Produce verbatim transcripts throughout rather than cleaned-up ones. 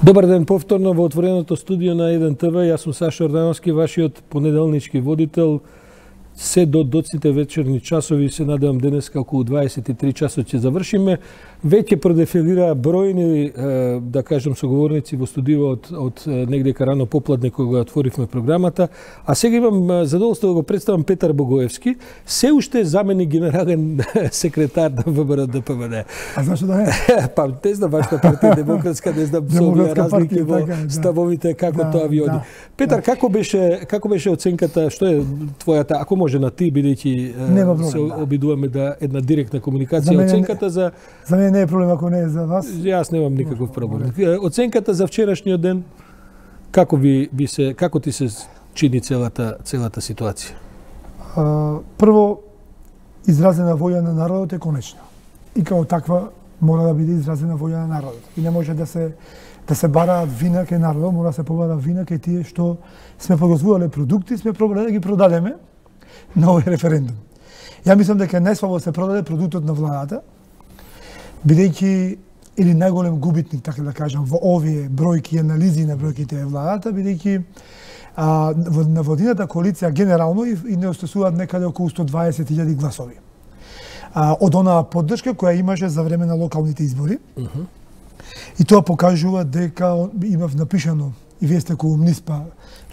Добар ден повторно во отвореното студио на еден те ве. Јас сум Сашо Ордановски, вашиот понеделнички водител. Се до доцните вечерни часови, се надевам денеска околу дваесет и три часот ќе завршиме. Веќе продефилира бројни, да кажем, соговорници во студио од, од негдека рано попладне кога отворивме програмата. А сега имам задоволство да го представам Петар Богоевски, се уште заменик генерален секретар на ВМРО Д П В Д. А зашто да е? Па не знам вашата партија демократска, не знам со овие разлики во ставовите како да, тоа ви оди. Да, Петар, да. како беше како беше оценката, што е твојата, ако може на ти, бидејќи се обидуваме да една директна комуникација, за оценката за За мене не е проблем ако не е за вас. Јас немам никаков проблем. Оценката за вчерашниот ден, како ви, ви се како ти се чини целата целата ситуација? А, прво, изразена воља на народот е конечна. И како таква мора да биде изразена воља на народот. И не може да се да се бараат вина кај народот, мора да се побара вина кај тие што сме производеле продукти, сме пробале да ги продадеме на овој референдум. Ја мислам дека најслабо се продаде продуктот на владата, бидејќи или најголем губитник, така да кажам, во овие бројки и анализи на бројките е владата, бидејќи а, на владината коалиција генерално и, и не остасуваат некаде околу сто дваесет илјади гласови. А, од онаа поддршка која имаше за време на локалните избори. Uh -huh. И тоа покажува дека имав напишано, и вие сте колумнист, па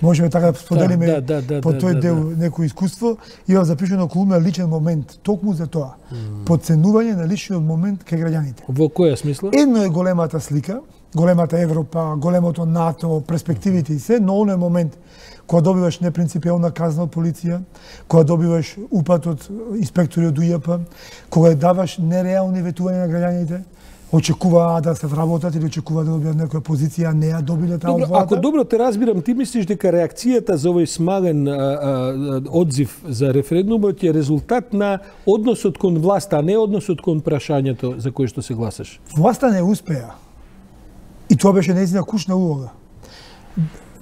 можеме така да споделиме да, да, да, по тој да, дел да. некој искуство, имав запишано колумна личен момент, токму за тоа. Mm. Подценување на личниот момент кај граѓаните. Во која смисла? Едно е големата слика, големата Европа, големото НАТО, перспективите и се, но оној момент кога добиваш непринципиелна казна од полиција, кога добиваш упат од инспектори од У Ј П, кога даваш нереални ветувања на граѓаните, очекуваа да се вработат или очекуваа да добијат некоја позиција, не ја добиле таа од владата. Ако добро те разбирам, ти мислиш дека реакцијата за овој смален а, а, одзив за референдумот е резултат на односот кон власта, а не односот кон прашањето за кој што се гласаш? Власта не успеа. И тоа беше нејзина кушна улога.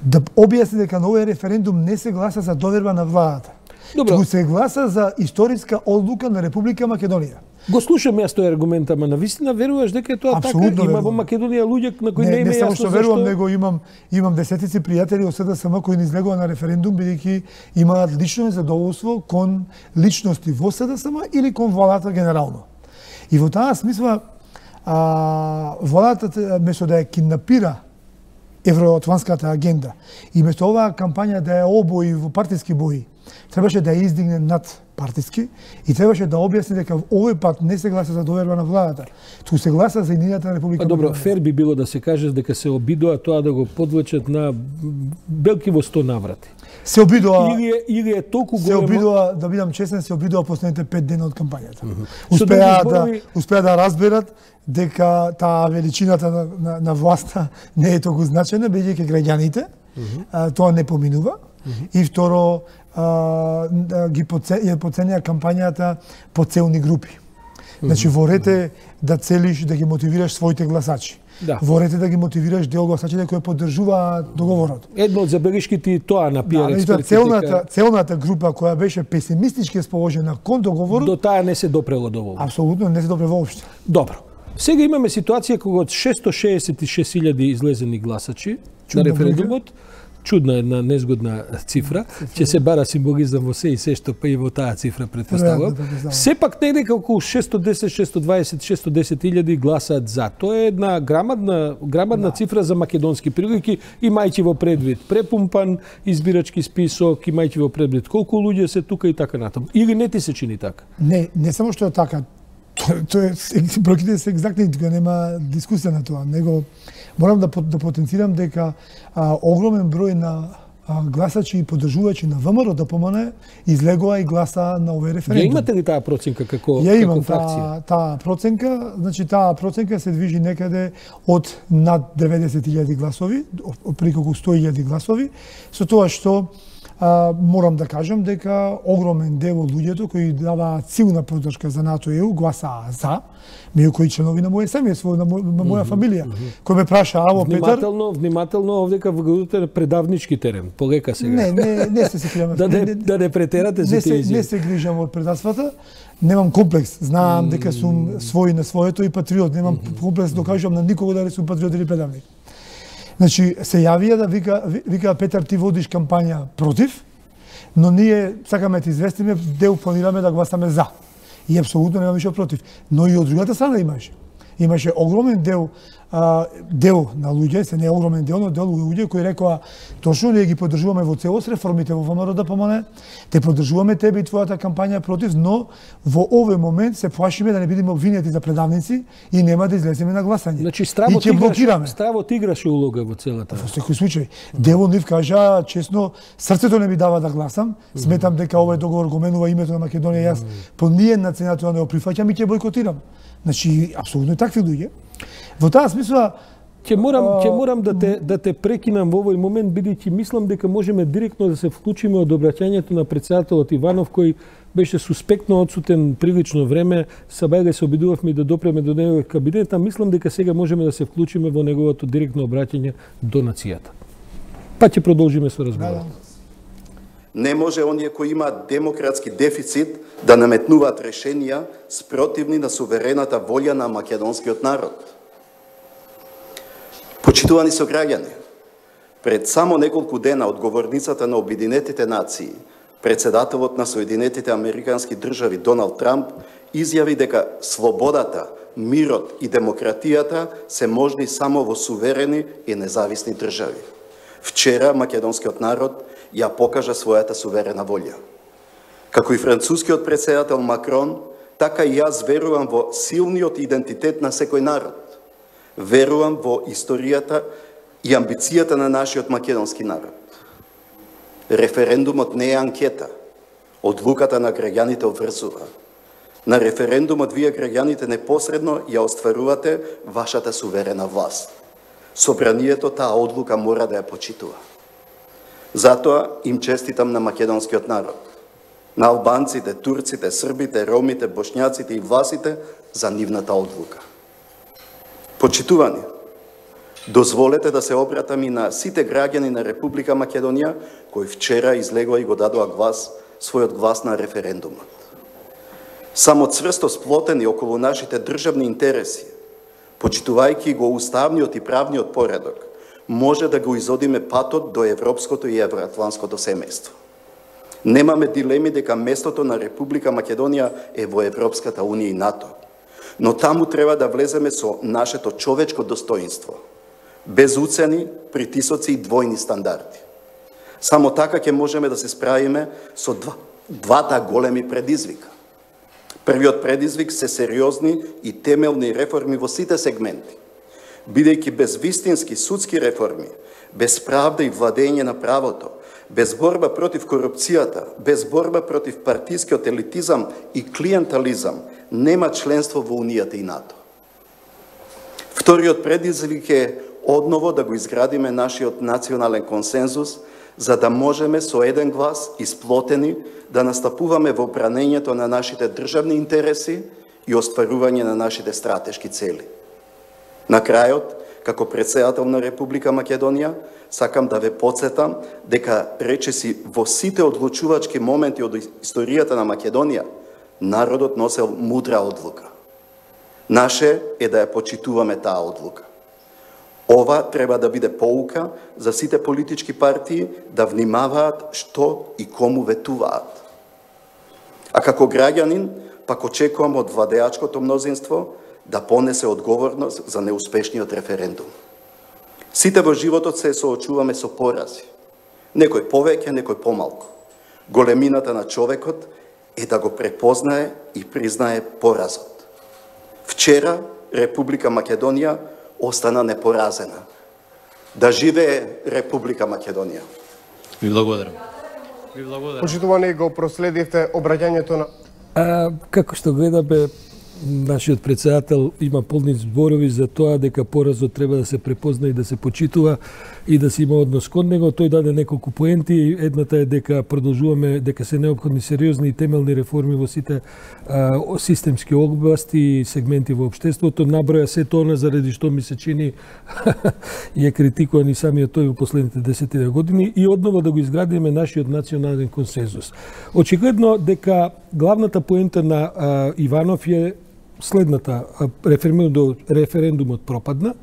Да објасни дека на овој референдум не се гласа за доверба на владата. Туку се гласа за историска одлука на Република Македонија. Го слушам јас тој аргумент, ама навистина веруваш дека е тоа Абсолютно така? Има во Македонија луѓе на кои не, не име јасно зашто. Не само што верувам, него имам имам десетици пријатели од С Д С М кои не излегува на референдум бидејќи имаат лично незадоволство кон личности во С Д С М или кон владата генерално. И во таа смисла а, владата место да ја кинапира евроатлантската агенда и место оваа кампања да ја обои во партиски бои, требаше да ја издигне над партиски и требаше да објасни дека овој пат не се гласа за доверба на владата, туку се гласа за едината Република. А добро, фер би било да се каже дека се обидоа тоа да го подвлечат на белки во сто наврати. Се обидоа или е, или е толку големо. Се обидоа, да бидам честен, се обидоа последните пет дена од кампањата. Mm -hmm. Успеа да зборови... успеа да разберат дека таа величината на, на, на власта не е толку значена, бидејќи граѓаните mm -hmm. а, тоа не поминува. Mm -hmm. И второ, а, ги подценија кампањата по целни групи. Значи, во ред е да целиш да ги мотивираш своите гласачи. Да. Во ред е да ги мотивираш дел гласачите кои поддржуваат договорот. Едно од забелишките тоа на пиар да, експертите. Целната, дека... целната група која беше песимистички расположена кон договорот, до таа не се допрело доволно. Апсолутно не се допре воопшто. Добро. Сега имаме ситуација кога од шесто шеесет и шест илјади излезени гласачи на референдумот, чудна една незгодна цифра, ќе се бара символизам во се и се што па и во таа цифра претпоставувам. Сепак негде околу шесто десет, шесто дваесет, шесто десет илјади гласаат за. Тоа е една грамадна грамадна да. цифра за македонски прилики, имајќи во предвид препумпан избирачки список, имајќи во предвид колку луѓе се тука и така натаму. Или не ти се чини така? Не, не само што е така. Тоа е бројките се екзактни, тука нема дискусија на тоа, него морам да да потенцирам дека а, огромен број на а, гласачи и поддржувачи на ВМРО Д П М Н излегоа и гласа на овој референдум. Ја имате ли таа проценка како Ја имам како фракција? Таа, таа проценка, значи таа проценка се движи некаде од над деветдесет илјади гласови, преку околу сто илјади гласови, со тоа што А, морам да кажам дека огромен дел од луѓето кои даваат силна поддршка за НАТО и Е У гласаа за, меѓу кои членови на моје семејство, на, мо, на моја фамилија, mm -hmm. кој ме праша, аво Петар... Внимателно, внимателно овдека вградувате предавнички терен, полека сега. Не, не, не се се кријаме. да, не, да не претерате за тие изјави. Не се грижам од предавствата, немам комплекс, знаам mm -hmm. дека сум свој на своето и патриот, немам mm -hmm. комплекс да кажам на никого дали сум патриот или предавник. Значи, се јавија да вика, вика Петар, ти водиш кампања против, но ние сакаме ти известиме, дел планираме да гласаме за. И апсолутно нема ништо против. Но и од другата страна имаше. Имаше огромен дел а, дел на луѓе, се не огромен дел, но дел луѓе кои рекоа точно ние ги поддржуваме во целост реформите во ВМРО-ДПМН, те поддржуваме тебе и твојата кампања против, но во овој момент се плашиме да не бидеме обвинети за предавници и нема да излеземе на гласање. Значи стравот играше, стравот играше улога во целата. Во секој случај. Дел од нив кажа честно, срцето не ми дава да гласам, сметам дека овој договор го менува името на Македонија, јас по ниедна цена тоа не го прифаќам и ќе бойкотирам. Значи, апсолутно такви луѓе. Во таа смисла ќе морам ќе морам да те да те прекинам во овој момент, бидејќи мислам дека можеме директно да се вклучиме од обраќањето на претседателот Иванов, кој беше суспектно одсутен прилично време. Сабајга се обидувавме да допреме до неговиот кабинет, а мислам дека сега можеме да се вклучиме во неговото директно обраќање до нацијата. Па ќе продолжиме со разговорот. Не може оние кои имаат демократски дефицит да наметнуваат решенија спротивни на суверената волја на македонскиот народ. Почитувани сограѓани, пред само неколку дена од говорницата на Обединетите нации, председателот на Соединетите Американски држави Доналд Трамп изјави дека слободата, мирот и демократијата се можни само во суверени и независни држави. Вчера македонскиот народ ја покажа својата суверена волја. Како и францускиот председател Макрон, така и јас верувам во силниот идентитет на секој народ. Верувам во историјата и амбицијата на нашиот македонски народ. Референдумот не е анкета. Одлуката на граѓаните обврзува. На референдумот вие граѓаните непосредно ја остварувате вашата суверена власт. Собранието таа одлука мора да ја почитува. Затоа им честитам на македонскиот народ, на албанците, турците, србите, ромите, бошњаците и власите за нивната одлука. Почитувани, дозволете да се обратам и на сите граѓани на Република Македонија кои вчера излегоа и го дадоа глас, својот глас на референдумот. Само цврсто сплотени околу нашите државни интереси, почитувајќи го уставниот и правниот поредок, може да го изодиме патот до европското и евроатланското семејство. Немаме дилеми дека местото на Република Македонија е во Европската унија и НАТО, но таму треба да влеземе со нашето човечко достоинство, без уцени, притисоци и двојни стандарди. Само така ќе можеме да се справиме со два, двата големи предизвика. Првиот предизвик се сериозни и темелни реформи во сите сегменти. Бидејќи без вистински судски реформи, без правда и владење на правото, без борба против корупцијата, без борба против партискиот елитизам и клиентализам, нема членство во Унијата и НАТО. Вториот предизвик е одново да го изградиме нашиот национален консензус, за да можеме со еден глас исплотени да настапуваме во бранењето на нашите државни интереси и остварување на нашите стратешки цели. На крајот, како председател на Република Македонија, сакам да ве потсетам дека речиси во сите одлучувачки моменти од историјата на Македонија, народот носел мудра одлука. Наше е да ја почитуваме таа одлука. Ова треба да биде поука за сите политички партии да внимаваат што и кому ветуваат. А како граѓанин, пак очекувам од владеачкото мнозинство да понесе одговорност за неуспешниот референдум. Сите во животот се соочуваме со порази. Некој повеќе, некој помалку. Големината на човекот е да го препознае и признае поразот. Вчера Република Македонија остана непоразена. Да живее Република Македонија. Ви благодарам. Ви благодарам. Почитувани, го проследивте обраќањето на... А, како што гледаме, нашиот председател има полни зборови за тоа дека поразот треба да се препозна и да се почитува и да се има однос кон него. Тој даде неколку поенти. Едната е дека продолжуваме, дека се необходни сериозни и темелни реформи во сите а, системски области и сегменти во општеството. Наброја се тоа заради што ми се чини и е критикуван и самиот тој во последните десет години и одново да го изградиме нашиот национален консензус. Очигледно дека главната поента на а, Иванов е следната: референдумот, референдумот пропадна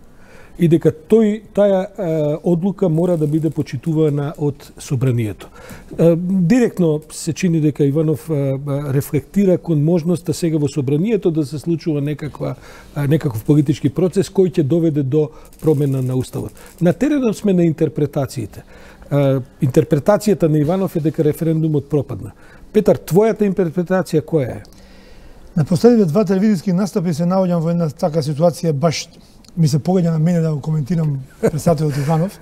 и дека тој таа е, одлука мора да биде почитувана од собранието. Е, директно се чини дека Иванов е, рефлектира кон можноста сега во собранието да се случува некаква е, некаков политички процес кој ќе доведе до промена на уставот. На теренот сме на интерпретациите. Е, интерпретацијата на Иванов е дека референдумот пропадна. Петар, твојата интерпретација која е? На последните два телевизиски настапи се наоѓам во една така ситуација, баш ми се погаѓа на мене да го коментирам председателот Иванов,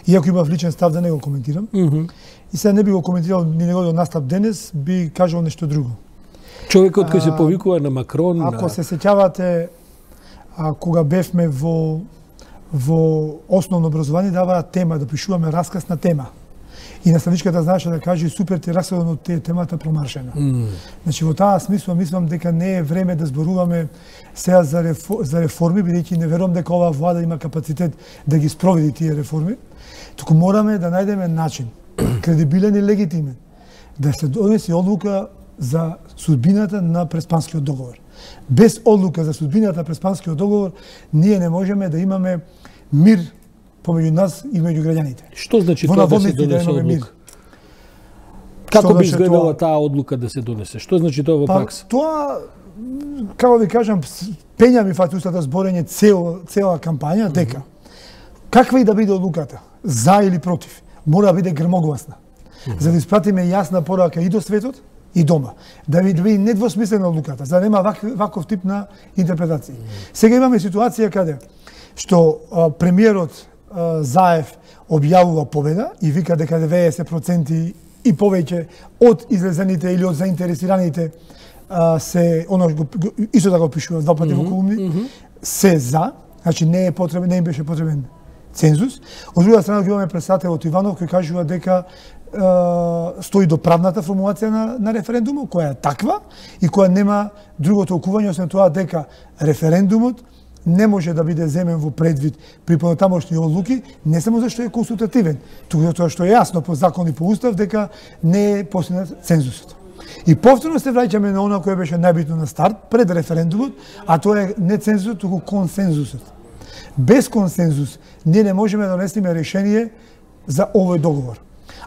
иако имав личен став да не го коментирам. Mm -hmm. И сега не би го коментирал ни неговиот настап денес, би кажал нешто друго. Човекот кој се повикува на Макрон... Ако на... се сеќавате, а, кога бевме во, во основно образование, даваа тема, да пишуваме расказ на тема. И наставничката знаеше да каже супер ти раскажот од тие темата промаршена. Mm. Значи во таа смисла мислам дека не е време да зборуваме сега за, рефо, за реформи, бидејќи не верувам дека оваа влада има капацитет да ги спроведи тие реформи. Туку мораме да најдеме начин, кредибилен и легитимен, да се донесе одлука за судбината на Преспанскиот договор. Без одлука за судбината на Преспанскиот договор ние не можеме да имаме мир помеѓу нас и меѓу граѓаните. Што значи тоа да се донесе одлука? Како би изгледала таа одлука да се донесе? Што значи тоа во пракса? Па, тоа, како ви кажам, пења ми фатустата зборење цел, цела кампања, дека каква и да биде одлуката, за или против, мора да биде грмогласна, за да испратиме јасна порака и до светот, и дома. Да биде да недвосмислена одлуката, за да нема вак, ваков тип на интерпретација. Сега имаме ситуација каде што а, премиерот а, Заев објавува победа и вика дека деветдесет проценти и повеќе од излезените или од заинтересираните а, се, оно го, исто така го пишува два пати во колумни, mm -hmm. се за, значи не е потребен, не им беше потребен цензус. Од друга страна имаме председателот Иванов кој кажува дека е, стои до правната формулација на, на референдумот, која е таква и која нема друго толкување освен тоа дека референдумот не може да биде земен во предвид при понатамошни одлуки, не само зашто е консултативен, туку затоа што е јасно по закон и по устав дека не е постигнат цензусот. И повторно се враќаме на она кое беше најбитно на старт пред референдумот, а тоа е не цензусот, туку консензусот. Без консензус ние не можеме да донесеме решение за овој договор.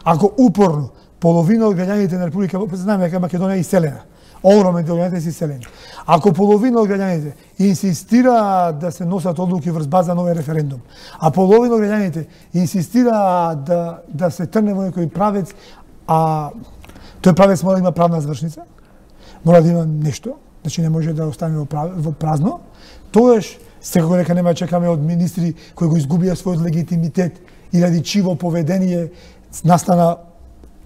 Ако упорно половина од граѓаните на Република, знаеме дека Македонија е иселена, огромен дел граѓаните се иселени. Ако половина од граѓаните инсистира да се носат одлуки врз база на овој референдум, а половина од граѓаните инсистира да да се трне во некој правец, а тој правец мора да има правна завршница, мора да има нешто, значи не може да остане во, прав... во празно, тогаш секако дека нема чекаме од министри кои го изгубија својот легитимитет и ради чиво поведение настана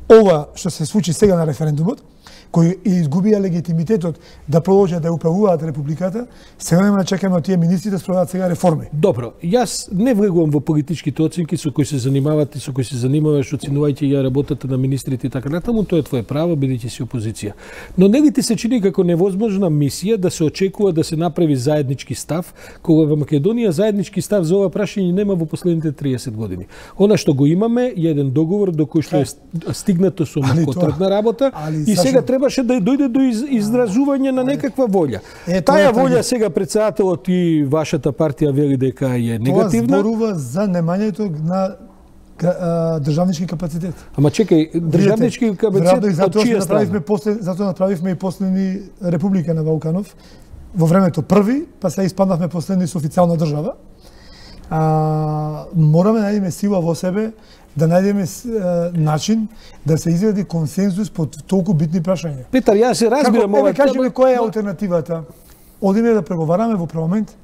ова што се случи сега на референдумот, кои изгубија легитимитетот да продолжат да управуваат републиката, сега нема да чекаме од тие министри да спроведат сега реформи. Добро, јас не влегувам во политичките оценки со кои се занимават и со кои се занимаваш оценувајќи ја работата на министрите и така натаму, тоа е твое право бидејќи си опозиција. Но нели ти се чини како невозможна мисија да се очекува да се направи заеднички став, кога во Македонија заеднички став за ова прашање нема во последните триесет години. Она што го имаме е еден договор до кој што е стигнато со макотрпна работа и сега требаше да дојде до из, изразување на некаква волја. Е, Таа волја сега председателот и вашата партија вели дека е негативна. Тоа зборува за немањето на а, државнички капацитет. Ама чекај, државнички капацитет од чија страна? После, затоа направивме и последни република на Балканов. Во времето први, па се испаднавме последни со официјална држава. А, мораме да најдеме сила во себе, да најдеме е, начин да се изведе консензус по толку битни прашања. Петар, јас се разбирам ова. Кажеме која е алтернативата. Одиме да преговараме во парламент.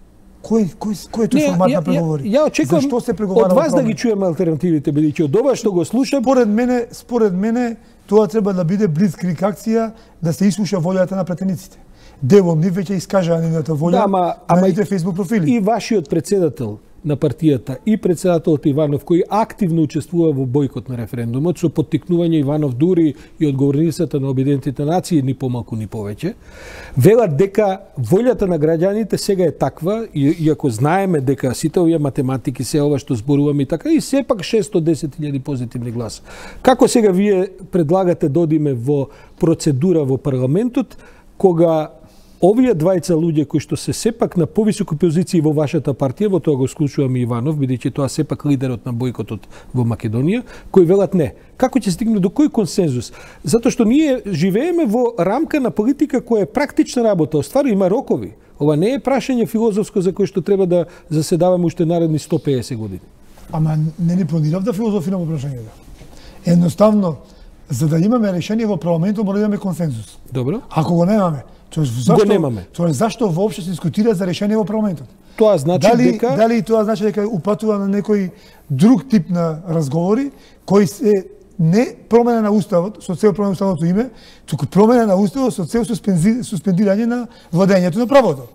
Кој кој кој е тој формат на преговори? Ја очекувам Зашто се преговара од вас да ги чуеме алтернативите, бидејќи од ова што го слушам, според мене, според мене тоа треба да биде блицкриг акција, да се ислуша волјата на претениците. Дел од нив веќе искажаа нивната волја да, ама, на нивните фејсбук профили. И вашиот председател на партијата и председателот Иванов, кој активно учествува во бојкот на референдумот, со поттикнување Иванов дури и одговорницата на Обединетите нации, ни помалку ни повеќе, велат дека волјата на граѓаните сега е таква, и, иако знаеме дека сите овие математики, се ова што зборуваме и така, и сепак шестоста и десет илјади позитивни гласа. Како сега вие предлагате да одиме во процедура во парламентот, кога овие двајца луѓе кои што се сепак на повисоки позиции во вашата партија, во тоа го склучувам и Иванов, бидејќи тоа сепак лидерот на бојкотот во Македонија, кои велат не. Како ќе стигне до кој консензус? Затоа што ние живееме во рамка на политика која е практична работа, оствари има рокови. Ова не е прашање филозофско за кое што треба да заседаваме уште наредни сто и песет години. Ама не ни планирав да филозофираме прашањето. Едноставно, за да имаме решение во парламентот, мора да имаме консензус. Добро. Ако го немаме, тоа зашто го немаме. Тоа зашто воопшто се дискутира за решение во парламентот? Тоа значи дали, дека дали тоа значи дека упатува на некој друг тип на разговори кои се не промена на уставот со цел промена на уставното име, туку промена на уставот со цел суспендирање на владењето на правото.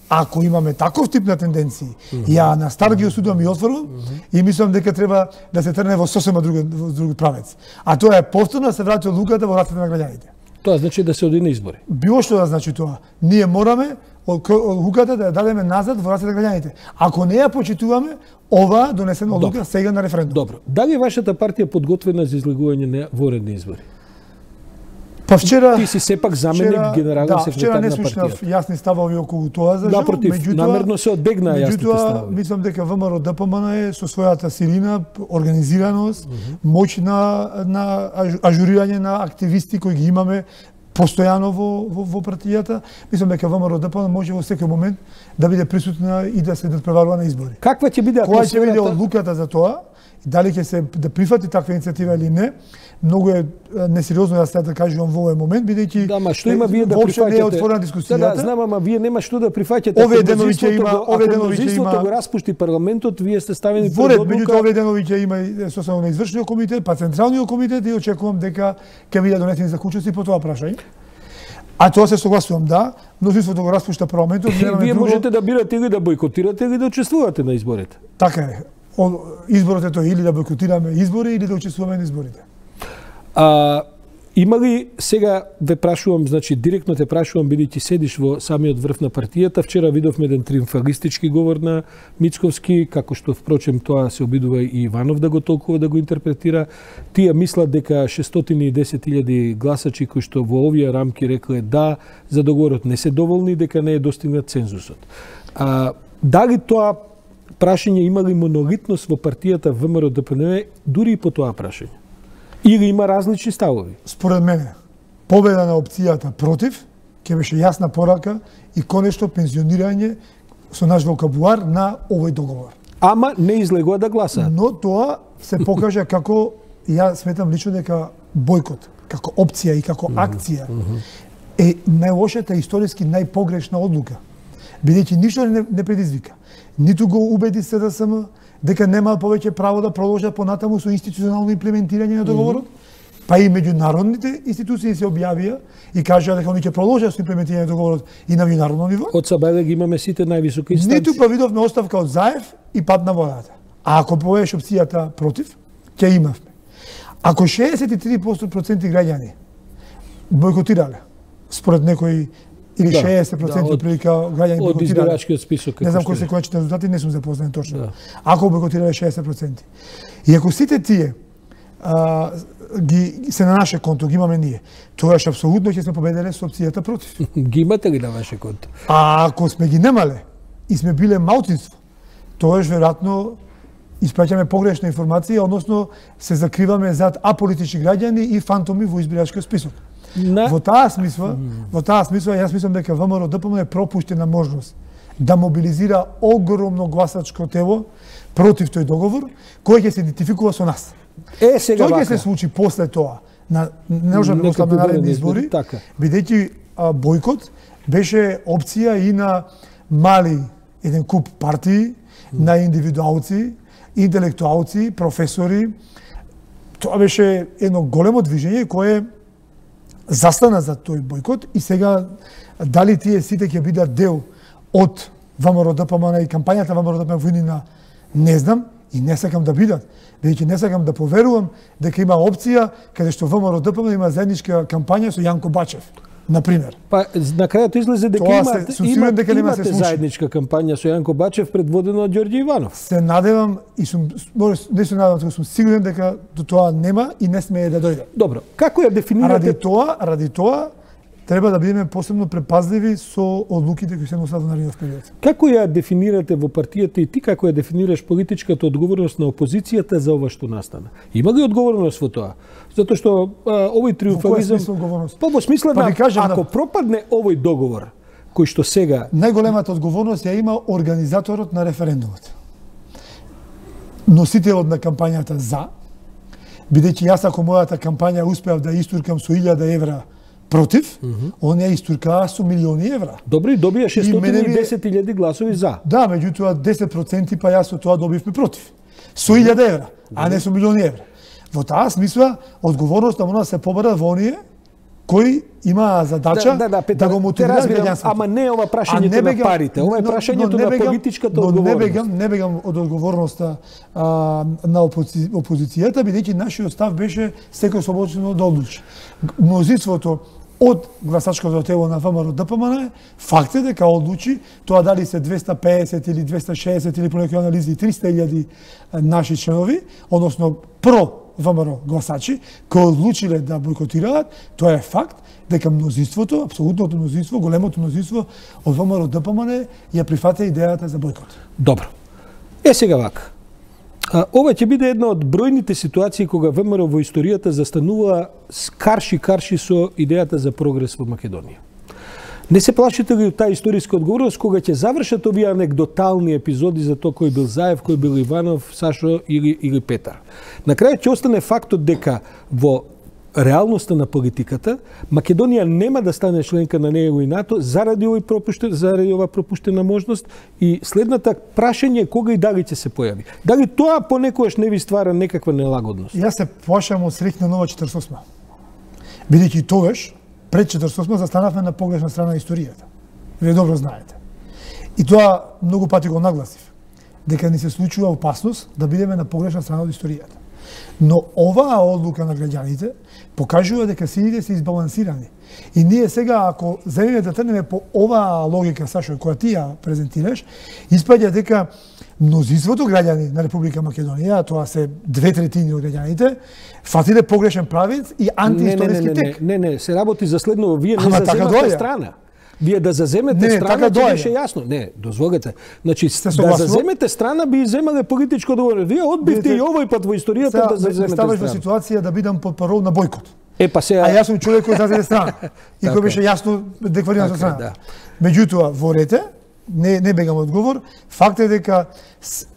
Ако имаме таков тип на тенденции, mm -hmm. ја на стар ги осудувам и отворувам mm -hmm. и мислам дека треба да се трне во сосема друг, друг правец. А тоа е повторно да се врати одлуката во рацете на граѓаните. Тоа значи да се оди на избори. Било што да значи тоа. Ние мораме одлуката да ја дадеме назад во рацете на граѓаните. Ако не ја почитуваме, ова донесена одлука сега на референдум. Добро. Дали вашата партија подготвена за излегување на воредни избори? Па вчера ти си сепак заменик вчера, генерален да, секретар на партијата. Вчера не слушнав јасни ставови околу тоа за жал. Напротив, меѓутоа, намерно се одбегна јасните ставови. Мислам дека ВМРО Д П М Н е со својата силина, организираност, mm -hmm. моќ на, на ажурирање на активисти кои ги имаме постојано во, во, во партијата. Мислам дека ВМРО Д П М Н може во секој момент да биде присутна и да се надпреварува на избори. Каква ќе биде атмосферата? Која ќе биде одлуката за тоа? Дали ќе се да прифати таква иницијатива или не? Многу е несериозно да се да кажувам во овој момент, бидејќи да, ма што има вие да прифаќате? Не е отворена дискусијата. Да, да, знам, ама вие нема што да прифаќате. Овие денови ќе има, овие денови ќе има. Го распушти парламентот, вие сте ставени пред одлука. Меѓутоа овие денови ќе има и составено на извршниот комитет, па централниот комитет и очекувам дека ќе бидат донесени заклучоци по тоа прашање. А тоа се согласувам, да, мнозинството го распушта парламентот. Вие можете да бирате или да бойкотирате или да учествувате на изборите. Така е. Изборот е тоа или да бойкотираме избори или да учествуваме на изборите. А, има ли, сега ве прашувам, значи директно те прашувам, бидејќи седиш во самиот врв на партијата, вчера видовме еден триумфалистички говор на Мицковски, како што впрочем тоа се обидува и Иванов да го толкува, да го интерпретира. Тие мислат дека шестстотини и десет илјади гласачи кои што во овие рамки рекле да за договорот не се доволни, дека не е достигнат цензусот. А, дали тоа прашање има ли монолитност во партијата ВМРО Д П Н М дури и по тоа прашање? Или има различни ставови? Според мене, победа на опцијата против ќе беше јасна порака и конечно пензионирање со наш вокабулар на овој договор. Ама не излегува да гласаат. Но тоа се покажа како, ја сметам лично дека бојкот, како опција и како акција е најлошата историски најпогрешна одлука. Бидејќи ништо не, не предизвика. Ниту го убеди С Д С М дека нема повеќе право да продолжат понатаму со институционално имплементирање на договорот, mm -hmm. па и меѓународните институции се објавија и кажаа дека они ќе продолжат со имплементирање на договорот и на меѓународно ниво. Од Сабајле ги имаме сите највисоки инстанции. Ниту па видовме оставка од Заев и пад на водата. А ако повееш опцијата против, ќе имавме. Ако шеесет и три проценти граѓани бойкотирале, според некои или да, шеесет проценти да, прилика граѓани бойкотирале. Од избирачкиот список. Не знам кои се конечните резултати, не сум запознат точно. Да. Ако бойкотирале шеесет проценти. И ако сите тие а, ги се на наше конто, ги имаме ние, тогаш апсолутно ќе сме победиле со опцијата против. Ги имате ли на ваше конто? А ако сме ги немале и сме биле малцинство, тогаш веројатно испраќаме погрешна информација, односно се закриваме зад аполитични граѓани и фантоми во избирачкиот список. На... Во таа смисла, mm. во таа смисла јас мислам дека ВМРО Д П М Н е пропуштена можност да мобилизира огромно гласачко тело против тој договор, кој ќе се идентификува со нас. Е, сега Тој ќе се случи после тоа на не може да ослабне наредни избори, така. Бидејќи бојкот беше опција и на мали еден куп партии, mm. на индивидуалци, интелектуалци, професори. Тоа беше едно големо движење кое застана за тој бојкот и сега дали тие сите ќе бидат дел од ВМРО Д П М Н и кампањата ВМРО Д П М Н во иднина, не знам и не сакам да бидат, бидејќи не сакам да поверувам дека има опција каде што ВМРО Д П М Н има заедничка кампања со Јанко Бачев, на пример. Па на крајот излезе дека Тоа има се, има, дека нема се случи. Заедничка кампања со Јанко Бачев предводена од Ѓорѓе Иванов. Се надевам и сум не се надевам, туку сум сигурен дека до тоа нема и не смее да дојде. Добро, како ја дефинирате? Ради тоа, ради тоа треба да бидеме посебно препазливи со одлуките кои се носат во наредниот период. Како ја дефинирате во партијата и ти како ја дефинираш политичката одговорност на опозицијата за ова што настана? Има ли одговорност во тоа? Затоа што а, овој триумфализам... Во кој смисла одговорност? Па во смисла па да, кажем, ако да... пропадне овој договор, кој што сега... Најголемата одговорност ја има организаторот на референдумот. Носителот на кампањата за, бидејќи јас ако мојата кампања успеав да истуркам со илјада евра против, mm -hmm. он ја истуркаа со милиони евра. Добро, и добија шестстотини и десет илјади гласови за. Да, меѓутоа десет проценти па јас со тоа добивме против. Со илјада евра, а не со милиони евра. Во таа смисла, одговорноста мора да се побара во оние кои има задача да, да, да, Петар, да го мотивираат граѓанството. Ама не ова прашањето на парите, ова е прашањето на политичката но одговорност. Не бегам, не бегам од одговорноста а, на опози, опозицијата, бидејќи нашиот став беше секој слободно да одлучи. Мнозинството од гласачкото тело на ВМРО Д П М Н факт е дека одлучи тоа дали се двеста пеесет или двеста шеесет или по некои анализи триста илјади наши членови, односно про ВМРО гласачи, кои одлучиле да бойкотираат, тоа е факт дека мнозинството, апсолутното мнозинство, големото мнозинство од ВМРО Д П М Н ја прифата идејата за бойкот. Добро. Е сега вака. А, ова ќе биде една од бројните ситуации кога ВМРО во историјата застанува карши-карши со идејата за прогрес во Македонија. Не се плашите ли од таа историска одговорност кога ќе завршат овие анекдотални епизоди за тоа кој бил Заев, кој бил Иванов, Сашо или, или Петар? На крајот ќе остане фактот дека во реалноста на политиката Македонија нема да стане членка на НЕ и НАТО заради овој пропуштен, заради ова пропуштена можност и следната прашање е кога и дали ќе се појави. Дали тоа понекогаш не ви ствара некаква нелагодност? Јас се плашам од среќна нова четиридесет и осма. Бидејќи тогаш пред четиридесет и осма застанавме на погрешна страна на историјата. Вие добро знаете. И тоа многу пати го нагласив, дека ни се случува опасност да бидеме на погрешна страна од историјата. Но оваа одлука на граѓаните покажува дека силите се избалансирани. И ние сега, ако земеме да трнеме по оваа логика, Сашо, која ти ја презентираш, испаѓа дека мнозинството граѓани на Република Македонија, тоа се две третини од граѓаните, фатиле погрешен правец и антиисториски тек. Не, не, не, се работи за следно, вие не Ама заземате така страна. Вие да заземете не, страна, така ќе беше јасно. Не, дозволете. Значи, да согласно? заземете страна би земале политичко одговорност. Вие одбивте и овој пат во историјата сега, да заземете ставаш страна. во ситуација да бидам под парол на бойкот. Е, па сега... А јас сум човек кој заземе страна. И кој беше јасно деклариран за страна. Да. Меѓутоа, во рете, не, не бегам одговор, факт е дека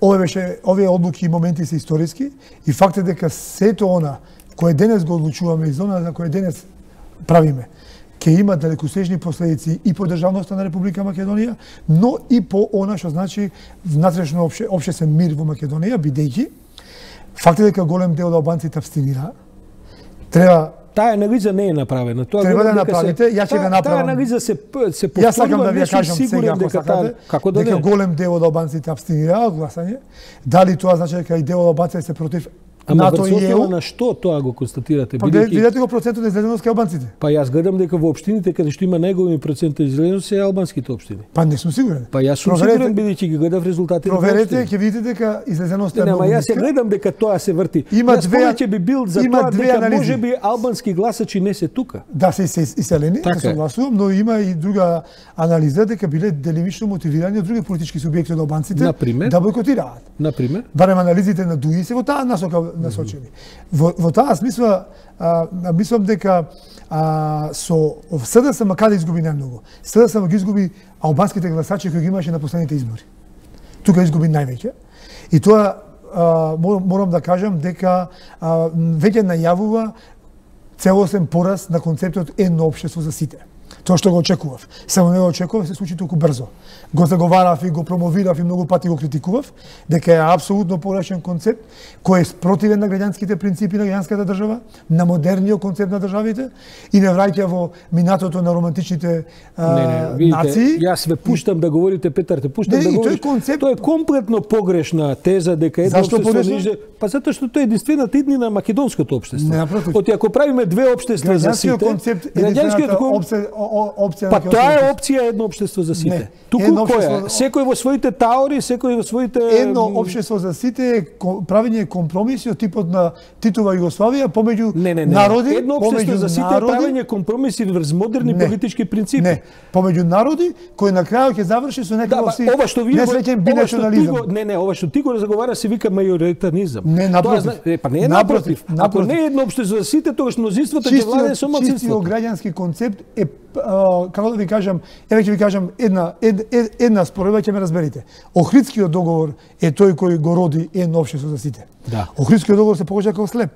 овие беше, овие одлуки и моменти се историски и факт е дека сето она кое денес го одлучуваме и зона за кое денес правиме, ќе има далекосежни последици и по државноста на Република Македонија, но и по она што значи внатрешно опше, општествен мир во Македонија, бидејќи факт е дека голем дел од албанците абстинира. Треба Таа анализа не е направена. Тоа треба да направите, ја ќе го направам. Таа анализа се се повторува. Јас сакам да ви ја кажам сега, ако сакате, како да дека не? голем дел од албанците абстинираа од гласање. Дали тоа значи дека и дел од албанците се против Ама НАТО и Е У? на што тоа го констатирате? Па Бидејќи... видете го процентот на излезеност кај албанците. Па јас гледам дека во општините каде што има најголеми проценти излезеност се албанските општини. Па не сум сигурен. Па јас сум Проверете- сигурен бидејќи ги гледав резултатите. Проверете, ќе видите дека излезеноста е Не, многу ама јас ја ниска. гледам дека тоа се врти. Има јас две- повеќе би бил за има тоа две дека анализи. можеби албански гласачи не се тука. Да се се иселени, Така да е. согласувам, но има и друга анализа дека биле делимично мотивирани од други политички субјекти од албанците Например? да бойкотираат. Например, Барем анализите на ДУИ се во таа насока насочени. Во, во таа смисла, а, мислам дека а, со С Д С М каде изгуби најмногу. С Д С М ги изгуби албанските гласачи кои ги имаше на последните избори. Тука изгуби највеќе. И тоа а, морам, морам да кажам дека а, веќе најавува целосен пораз на концептот едно општество за сите. Тоа што го очекував. Само не го очекував, се случи толку брзо. Го заговарав и го промовирав и многу пати го критикував, дека е апсолутно погрешен концепт, кој е спротивен на граѓанските принципи на граѓанската држава, на модерниот концепт на државите и не враќа во минатото на романтичните а, не, не, видите, нации. јас ве пуштам да говорите, Петар, те пуштам Не, да и тој говориш. концепт- Тоа е комплетно погрешна теза дека едно Зашто општество погрешно? ниже, па затоа што тоа е единствената иднина на македонското општество. Не, напротив. Оти ако правиме две општества за Граѓанскиот сите, концепт, граѓанскиот единствената кон- опсе- опција. Па тоа е опција едно општество за сите. Не, Туку едно која? општество- Секој во своите таори, секој во своите Едно општество за сите е ко- правење компромиси од типот на Титова Југославија помеѓу Не, не, не. народи, Едно општество помеѓу за сите е народи, правење компромиси врз модерни Не. политички принципи. Не, помеѓу народи кои на крајот ќе заврши со Да, некаков ба, си ова што вие го- несреќен ова што ти бинационализам. го- не, не, ова што ти го заговара се вика мајоритаризам. Не, напротив. Тоа зна- е, па не е Напротив, напротив. Ако напротив. не е едно општество за сите, тогаш мнозинството ќе владее со Чистиот малцинството. граѓански концепт е, а, како да ви кажам, еве ќе ви кажам една ед, ед, една споредба, ќе ме разберете. Охридскиот договор е тој кој го роди едно општество за сите. Да. Охридскиот договор се покажа како слеп.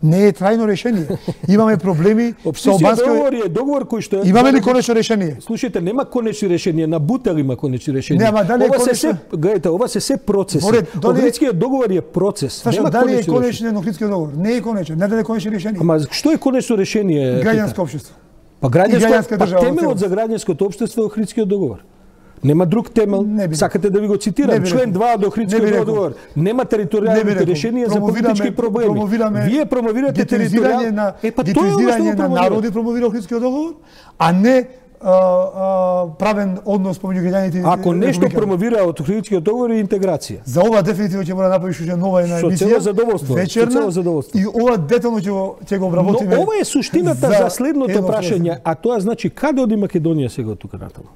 Не е трајно решение. Имаме проблеми со Општествениот албанскиот. договор е договор кој што е Имаме ли конечно решение? Слушајте, нема конечни решенија, на Бутел има конечни решенија. Не, ама дали е ова се конечно- се, гледате, ова се се процеси. Во ред, дали е- Охридскиот договор е процес. Сашо, нема дали е конечни решенија. конечен Охридскиот договор? Не е конечен, не даде конечно решение. Ама што е конечно решение? Граѓанско општество. Па и граѓанско, граѓанска па држава во темелот целост. за граѓанското општество е Охридскиот договор. Нема друг темел. Не би Сакате да ви го Не цитирам, би член рекол. два од Не би Охридскиот рекол. договор. Нема Не би територијалните рекол. решенија за Промовираме- политички проблеми. промовираме Вие промовирате гетоизирање територијал... на Е, па тоа е ова што гетоизирање го на промовирате. народи промовира Охридскиот договор, а не а, а, правен однос помеѓу граѓаните и Ако нешто републикани. промовира од Охридскиот договор е интеграција. За ова дефинитивно ќе мора да направиш уште нова една Со емисија. цело задоволство, Вечерна, со цело задоволство. И ова детално ќе го ќе го обработиме. Но ова е суштината за, за следното едно прашање, а тоа значи каде оди Македонија сега од тука натаму?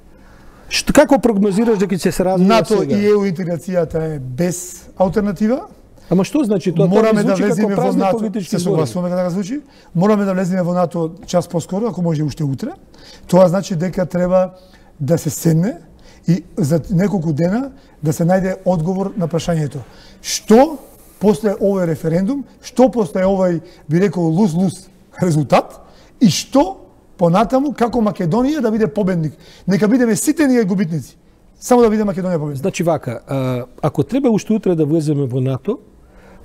Што како прогнозираш дека ќе се развива НАТО сега? и ЕУ интеграцијата е без алтернатива. Ама што значи тоа? Мораме Тоа да ми звучи влеземе како во празни НАТО. политички Се зборови. согласуваме дека така звучи. Мораме да влеземе во НАТО час поскоро, ако може уште утре. Тоа значи дека треба да се седне и за неколку дена да се најде одговор на прашањето. Што после овој референдум, што после овој, би рекол, лус-лус резултат и што понатаму како Македонија да биде победник. Нека бидеме сите ние губитници. Само да биде Македонија победник. Значи вака, а, ако треба уште утре да влеземе во НАТО,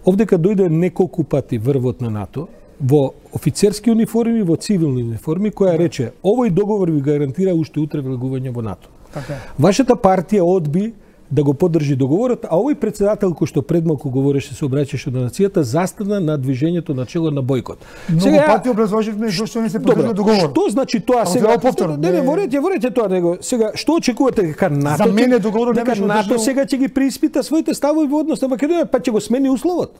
овдека дојде неколку пати врвот на НАТО, во офицерски униформи, во цивилни униформи, која рече, овој договор ви гарантира уште утре влегување во НАТО. Така е. Вашата партија одби да го поддржи договорот, а овој председател кој што пред малку говореше, се обраќаше на нацијата, застана на движењето на чело на бојкот. Многу пати образложивме зашто не се Добро, поддржа договор. што значи тоа Ама сега? треба повторно, Не, не, не- ворете, ворете тоа него. Сега што очекувате дека НАТО? За мене ќе- договорот не дека беше НАТО одржан. сега ќе ги преиспита своите ставови во однос на Македонија, па ќе го смени условот.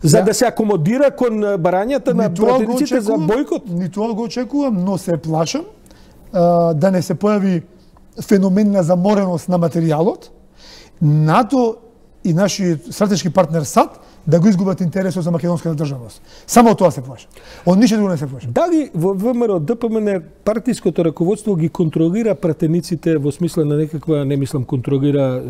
За Да. да се акомодира кон барањата на Ни тоа го пратениците за очекувам, бојкот. Ни тоа го очекувам, но се плашам а, да не се појави феномен на замореност на материјалот. НАТО и нашиот стратешки партнер САД да го изгубат интересот за македонската државност. Само од тоа се плашам. Од ништо друго не се плашам. Дали во ВМРО ДПМН партиското раководство ги контролира пратениците во смисла на некаква, не мислам контролира,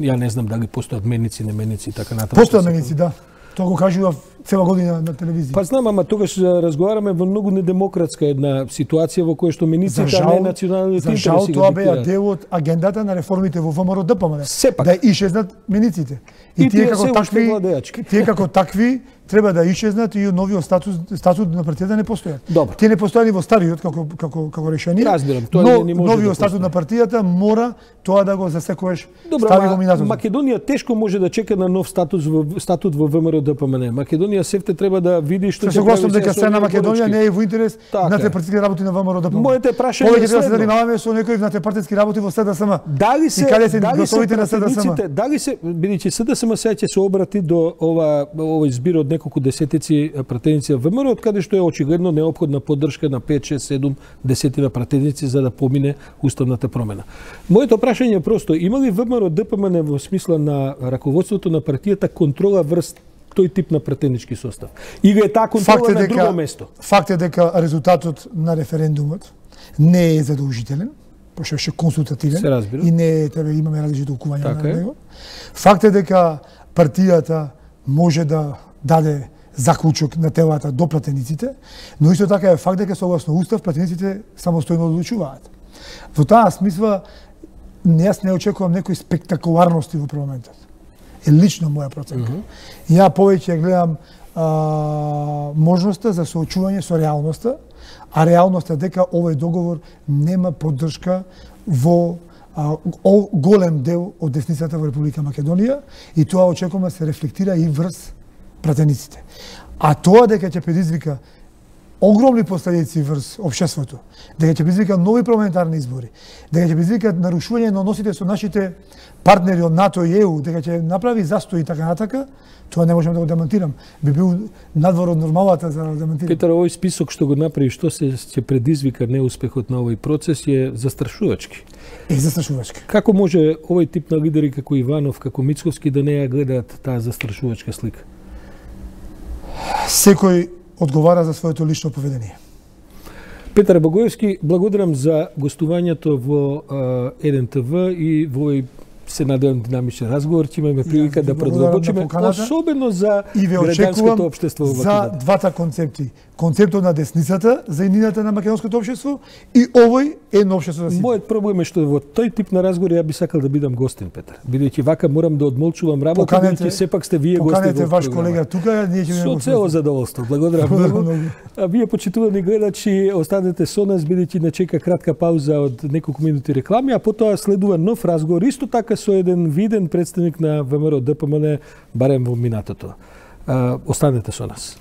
ја не знам дали постојат меници, неменици и така натаму. Постоја меници, да. Тоа го кажува цела година на телевизија. Па знам, ама тогаш разговараме во многу недемократска една ситуација во која што За мениците, а жал, не националните за интереси жал ги тоа беа диктираат. дел од агендата на реформите во ВМРО ДПМН. Сепак. Да ишезнат мениците. И тие како се уште такви, владеачки. тие како такви треба да ишезнат и новиот статус статут на партијата не постојат. Добро. Тие не постојани во стариот како како како решение. Разбирам, тоа но не може новиот да статут на партијата мора тоа да го засекоеш. Добро, стави го ама минатото. Македонија тешко може да чека на нов статус во статут во ВМРО ДПМН. Македонија севте треба да види што Се ќе согласувам прави дека со страна овие Македонија порачки. не е во интерес Така на е. партиски работи на ВМРО ДПМН. Моите прашање Повеќе е треба да се следно. занимаваме со некои внатре работи во СДСМ. Дали се И каде се дали гласовите на СДСМ? пратениците, дали се бидејќи СДСМ сега ќе се обрати до ова овој збир од неколку десетици пратеници во ВМРО, од каде што е очигледно неопходна поддршка на пет, шест, седум десетина пратеници за да помине уставната промена. Моето прашање е просто, има ли ВМРО ДПМН во смисла на раководството на партијата контрола врз тој тип на пратенички состав? Или е таа контрола Факт е на дека друго место? факт е дека резултатот на референдумот не е задолжителен, пошто беше консултативен Се разбира. и не е тебе имаме различни толкувања Така на е. него. Факт е дека партијата може да даде заклучок на телата до пратениците, но исто така е факт дека согласно устав пратениците самостојно одлучуваат. Во таа смисла не јас не очекувам некои спектакуларности во парламентот. Е лично моја проценка. Mm -hmm. Ја повеќе гледам а, можноста за соочување со реалноста, а реалноста е дека овој договор нема поддршка во а, о, голем дел од десницата во Република Македонија и тоа очекувам да се рефлектира и врз пратениците. А тоа дека ќе предизвика огромни последици врз општеството, дека ќе предизвика нови парламентарни избори, дека ќе предизвика нарушување на односите со нашите партнери од НАТО и Е У, дека ќе направи застои и така натака, тоа не можам да го демонтирам. Би бил надвор од нормалата за да демонтирам. Петар, овој список што го направи, што се ќе предизвика неуспехот на овој процес е застрашувачки. Е застрашувачки. Како може овој тип на лидери како Иванов, како Мицковски да не ја гледаат таа застрашувачка слика? Секој одговара за своето лично поведение. Петар Благоевски, благодарам за гостувањето во еден Те Ве и во овој се надевам динамичен разговор, ќе имаме прилика да продолбочиме, особено за граѓанското општество во Македонија. За двата концепти. Концептот на десницата, за иднината на македонското општество и овој едно општество за сите. Мојот проблем е што во тој тип на разговор ја би сакал да бидам гостин, Петар. Бидејќи вака морам да одмолчувам работа, бидејќи сепак сте вие гости во програмата. Поканете ваш колега тука, ние ќе Со цело задоволство. Благодарам многу. А вие почитувани гледачи, останете со нас, бидејќи не чека кратка пауза од неколку минути реклами, а потоа следува нов разговор, исто така со еден виден представник на ВМРО Д П М Н, барем во минатото. Останете со нас.